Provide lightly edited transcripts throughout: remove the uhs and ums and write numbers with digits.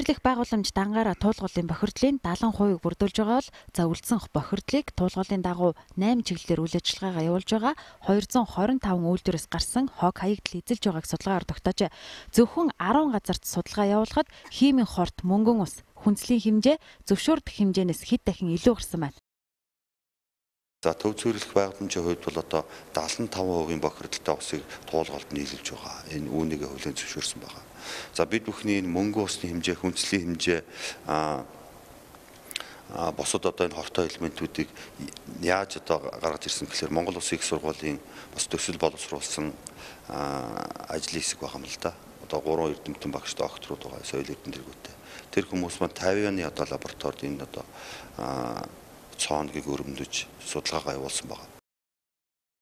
цэвэрлэх байгууламж дангаараа туулгуулын бохирдлын 70% бүрдүүлж байгаа бол за үлдсэн бохирдлыг туулгуулын дагуу 8 чиглэлээр үйл ажиллагаагаа явуулж байгаа 225 үйлдвэрээс гарсан хог хаягдл эзэлж байгааг судалгаагаар тогтоожээ. Зөвхөн 10 газарт судалгаа явуулахад химийн хорт мөнгөн ус хүнслийн хэмжээ зөвшөөрөх хэмжээнээс хэд дахин илүү гарсан байна. За төв цэвэрлэх байгууламжийн хувьд бол одоо 75% бохирдолтой усыг туулгалд нийлүүлж байгаа. Энэ үүнийг хүлээн зөвшөөрсөн байгаа. За бид бүхний энэ мөнгөн усны хэмжээ, хүнслийн хэмжээ босод одоо энэ хортой элементүүдийг яаж одоо гаргаж ирсэн гэхээр Монгол Улсын их сургуулийн бас төсөл боловсруулсан ажлын хэсэг байгаа юм л да. Одоо 3 эрдэмтэн багш докторууд байгаа, соёл эрдэнэ тэргүүтэй. Тэр хүмүүс маань 50-ны одоо лабораторид энэ одоо цооногийг өрөмдөж судалгаагаа явуулсан байна.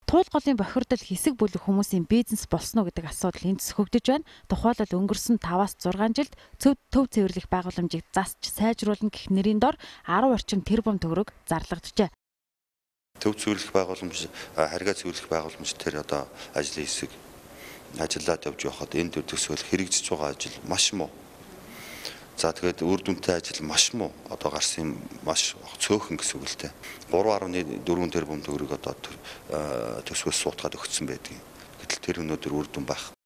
Туулгуулын бохирдол хэсэг бүлэг хүмүүсийн бизнес болсон уу гэдэг асуудал энд зөвхөгдөж байна. Тухайлбал өнгөрсөн 5-6 жилд төв цэвэрлэх байгууламжийг засч сайжруулна гэх нэрийн дор 10 орчим тэрбум төгрөг зарлагджээ. Төв цэвэрлэх байгууламж, харьгаа цэвэрлэх байгууламж тэр одоо ажлын хэсэг ажиллаад явж байхад энэ төр төсөөл хэрэгжиж байгаа ажил маш муу. За тэгээд үр дүнтэй ажил маш муу одоо гарсан маш цөөхөн гэсэн үг л дээ. 3.4 тэрбум төгрөг одоо төсвөөс суутгаад өгсөн байдаг. Гэтэл тэр өнөөдөр үр дүн байх.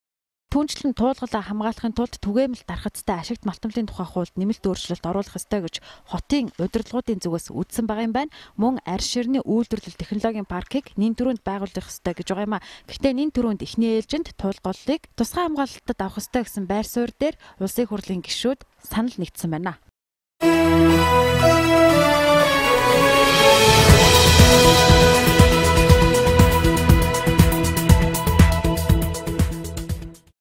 Түүнчлэн туулгалаа хамгаалахын тулд түгээмэл дархацтай ашигт малтамлын тухай хуульд нэмэлт өөрчлөлт оруулах ёстой гэж хотын удирдлагуудын зүгээс үздсэн байгаа юм байна. Мөн арьс ширний үйлдвэрлэл технологийн паркийг нэн төрөнд байгуулах ёстой гэж байгаа юм а. Гэхдээ нэн төрөнд эхний ээлжинд туулгалыг тусгай хамгаалалтад авах ёстой гэсэн байр суурь дээр улсын хурлын гишүүд санал нэгдсэн байна.